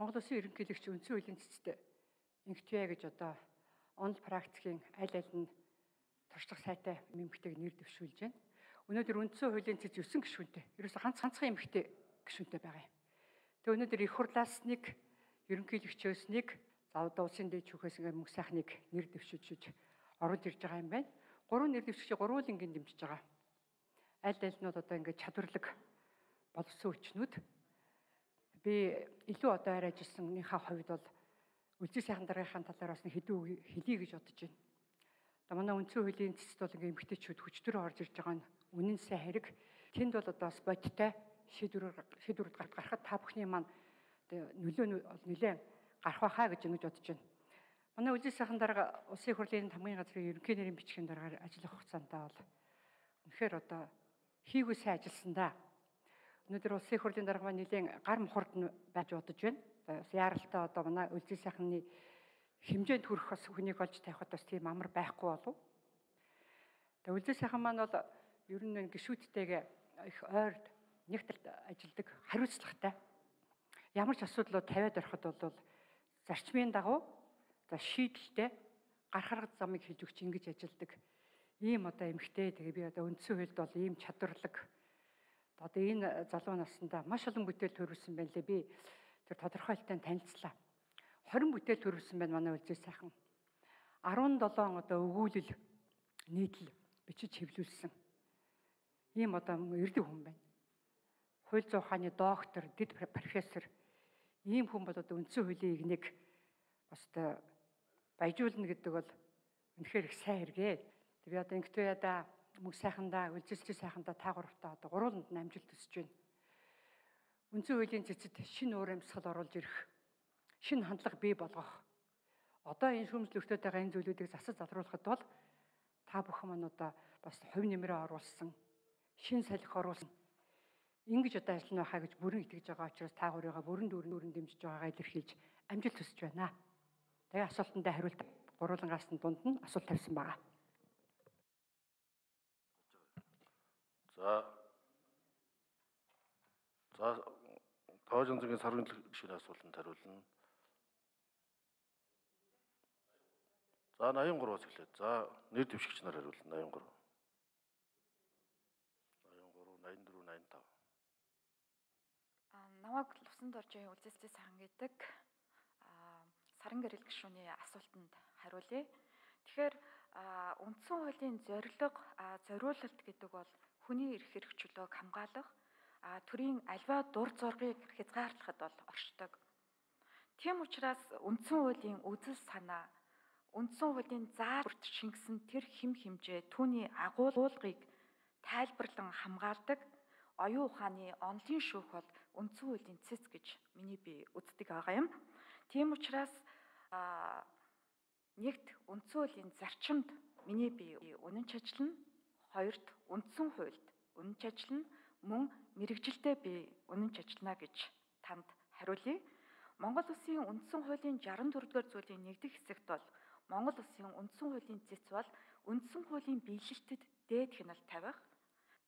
Монгол Улсын ерөнхийлөгч үндсэн хуулийн цэцэд инхтвэ гэж одоо онл практикийн аль нь туршлага сайтай эмэгтэйг нэр дэвшүүлж байна. Өнөөдөр үндсэн хуулийн цэц 9 гишүүнтэй. Ерөөсө ганцхан эмэгтэй гишүүнтэй байгаа юм. Тэгээ өнөөдөр их хурлаас нэг ерөнхийлөгчөөс нэг заавал улсын дэд шүүхээс ингээ мөнх сайхныг нэр дэвшүүлж оруулж ирж байгаа юм байна. Гурван нэр дэвшигчийг гурвуулангийн дэмжиж байгаа. Аль-альнууд одоо ингээ чадварлаг болсон хүчнүүд. Би илүү одоо арай ажилласныхаа хувьд бол үлзий сайхан даргийнхаа талаар бас хэдэн үг хэлье гэж бодож байна. Одоо манай үндсэн хуулийн цэцэд бол ингээ эмэгтэйчүүд хүчтөр орж ирж байгаа нь үнэн сайн хэрэг. Тэнд бол одоо бас бодиттой шийдвэрүүд гаргахад та бүхний маань нөлөө нэлээд гарах байхаа гэж ингэж бодож байна. Манай үлзий сайхан дарга улсын хурлын хамгийн газрын ерөнхий нэрийн бичгийн дараагаар ажиллах хугацаандаа бол үнэхээр одоо хийгүй сайн ажилласан да. Өнөөдөр улсын хурлын дарга маань нэлийн гар мухард байж бодож байна. Яаралтай одоо манай үлзий сайхны хэмжээнд хүрэх бас хүнийг олж тавихад бас тийм амар байхгүй болов. Тэгээ үлзий сайхан маань бол ер нь гишүүдтэйгээ их ойрд нэгтэлд ажилладаг, хариуцлагатай. Ямар ч асуудлууд тавиад ороход бол зарчмын дагуу за шийдэлтэй гарах замыг хийж өгч ингэж ажилладаг. Ийм одоо эмэгтэй тэгээ би одоо үндсэн хуульд бол ийм чадварлаг одоо энэ залуу наснда маш олон бүтээл төрүүлсэн байна лээ. Би тэр тодорхойлолттой танилцлаа. 20 бүтээл төрүүлсэн байна манай үлзий сайхан. 17 одоо өгүүлэл нийтлэл бичиж хэвлүүлсэн. Ийм одоо эрдэм хүн байна. Хууль зүйн ухааны доктор, дэд профессор. Ийм хүн бол одоо үндсэн хуулийн игнийг бас одоо баяжуулна гэдэг бол үнэхээр их сайн хэрэгээ. Би одоо инхтвэда мөнх сайхандаа, үлзий сайхандаа та гуравтаа одоо гурвууланд амжилт хүсэж байна. Үндсэн хуулийн цэцэд шинэ уур амьсгал оруулж ирэх, шинэ хандлага бий болгох. Одоо энэ шүүмжлэгтөд байгаа энэ зүйлүүдийг засаж залруулахад бол та бүхэн маань одоо бас хувь нэмрээ оруулсан, шинэ салхи оруулсан. Ингэж одоо ажиллана байхаа гэж бүрэн итгэж байгаа учраас та гурыгаа бүрэн дүүрэн дэмжиж байгаагаа илэрхийлж амжилт хүсэж байна. Тэгээ асуултандаа хариулт гурвуулангаас нь дунд нь асуулт тавьсан байгаа. За Тоожин зэгийн сарвын гишүүний асуултанд хариулна. За 83-аас эхлээд. За нэр дэвшигч нар хариулна 83. 84, 85. Намайг Лувсан доржийн үлзий сайхан гэдэг саран гэрэл гишүүний асуултанд хариулъя. Тэгэхээр үндсэн хуулийн зориулалт гэдэг бол хүний эрх хэрэгчлөөг хамгаалах, төрийн альва дур зоргыг хязгаарлахад бол оршдог. Тийм учраас үндсэн хуулийн үзэл санаа, үндсэн хуулийн заа бүрт шингэсэн тэр хэм хэмжээ түүний агуулгыг тайлбарлан хамгаалдаг оюун ухааны онлын шүүх бол үндсэн хуулийн цэц гэж миний би үздэг байгаа юм. Тийм учраас нэгт үндсэн хуулийн зарчимд миний би үнэн чажиллана, хоёрт үндсэн хуульд үнэн чажиллана, мөн мэрэгжилдээ би үнэн чажиллана гэж танд хариулъя. Монгол Улсын үндсэн хуулийн 64-р зүйлийн 1-р хэсэгт бол Монгол Улсын үндсэн хуулийн цэц бол үндсэн хуулийн биелэлтэд дээд хяналт тавих,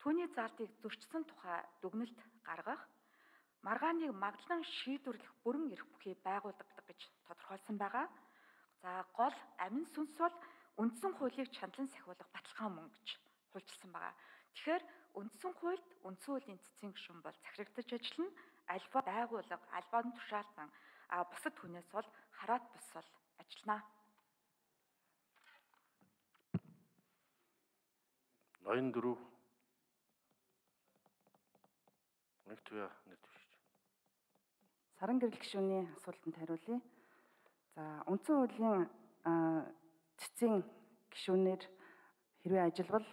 түүний заалтыг зөрчсөн тухай дүгнэлт гаргах, маргааныг магадлан шийдвэрлэх бүрэн эрх бүхий байгуулдаг гэж тодорхойлсон байгаа. За гол амин сүнс бол үндсэн хуулийг чандлан сахиулах баталгаан мөн гэж хуульчилсан байгаа. Тэгэхээр үндсэн хуульд үндсэн хуулийн цэцгийн гишүүн бол захирагдаж ажиллана. Альва байгууллага, альваан тушаалтан бусад хүнээс бол хараат бус бол ажиллана. 84 нэгтвэ нэр дэвшигч. Саран гэрэл гишүүний асуултанд хариулъя. За үндсэн хуулийн цэцгийн гишүүнээр хэрвээ ажиллавал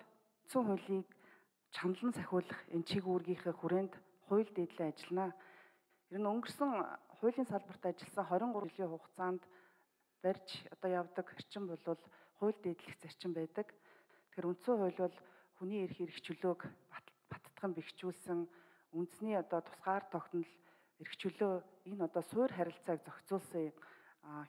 үндсэн хуулийг чандлан сахиулах энэ чиг үүргийнхээ хүрээнд хууль дэдлээ ажиллана. Ер нь өнгөрсөн хуулийн салбарт ажилласан 23 жилийн хугацаанд барьж одоо явдаг зарчим бол хууль дэдлэх зарчим байдаг. Тэгэхээр үндсэн хууль бол хүний эрх хэрэгчлөөг баттган бэхжүүлсэн үндэсний одоо тусгаар тогтнол эрх чөлөө энэ одоо суур харилцааг зохицуулсан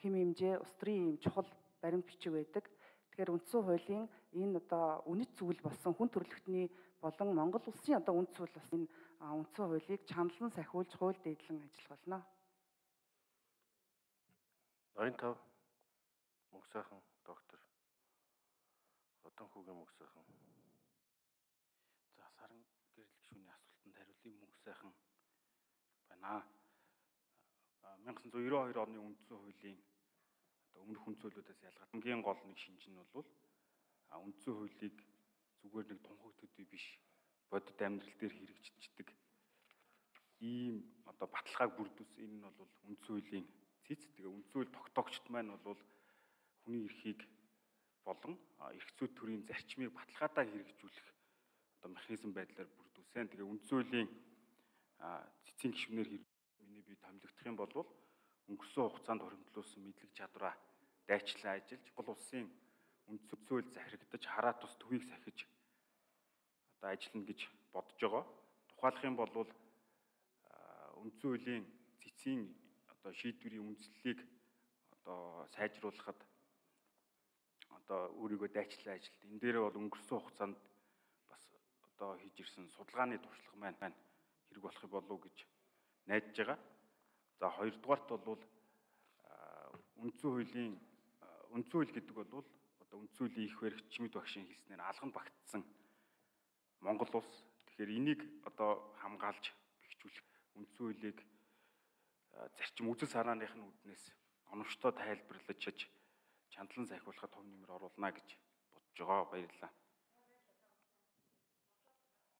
хэм хэмжээ улс төрийн юм чухал баримт бичиг байдаг. Тэгэхээр үндсэн хуулийн энэ одоо үнэт зүйл болсон хүн төрөлхтний болон Монгол улсын одоо үнэт зүйл болсон энэ үндсэн хуулийг чандлан сахиулж хууль дэдлэн ажиллах болно. 75 мөнх сайхан доктор Одан хүүгийн мөнх сайхан. За саран гэрэл гишүүний асуултанд хариулъя. Мөнх сайхан байна. 1992 оны үндсэн хуулийн өмнөх үндсэн хуулиудаас ялгаад хамгийн гол нэг шинж нь бол үндсэн хуулийг зүгээр нэг тунхаг төдий биш бодит амьдрал дээр хэрэгжиждэг ийм баталгааг бүрдүүлсэн. Энэ нь бол үндсэн хуулийн цэц. Тэгээ үндсэн хууль тогтоогчд маань бол хүний эрхийг болон эрх зүйн төрийн зарчмыг баталгаадаа хэрэгжүүлэх механизм байдлаар бүрдүүлсэн. Тэгээ үндсэн хуулийн цэцгийн гишүүнээр миний бие томилогдох юм бол өнгөрсөн хугацаанд хоригдлуулсан мэдлэг чадвараа дайчлан ажиллаж гол улсын үндсэн хууль захирагдаж хараа тус төвийг сахиж ажиллана гэж бодож байгаа. Тухайлах юм бол үндсэн хуулийн цэцгийн шийдвэрийн үндслэлийг сайжруулахад өөрийгөө дайчлан ажилт. Энэ дээрээ бол өнгөрсөн хугацаанд бас хийж ирсэн судалгааны туршлага маань хэрэг болох болов гэж найдаж байгаа. За хоёрдугаарт бол үндсэн хууль гэдэг бол үндсэн хуулийн их баригч Чимэд багшийн хэлснээр алганд багтсан Монгол улс. Тэгэхээр энийг хамгаалж бэхжүүлэх үндсэн хуулийг зарчим үзэл санааных нь үүднээс оновчтой тайлбарлаж чандлан сайхуулахад төв нэмэр оруулна гэж бодож байгаа. Баярлалаа.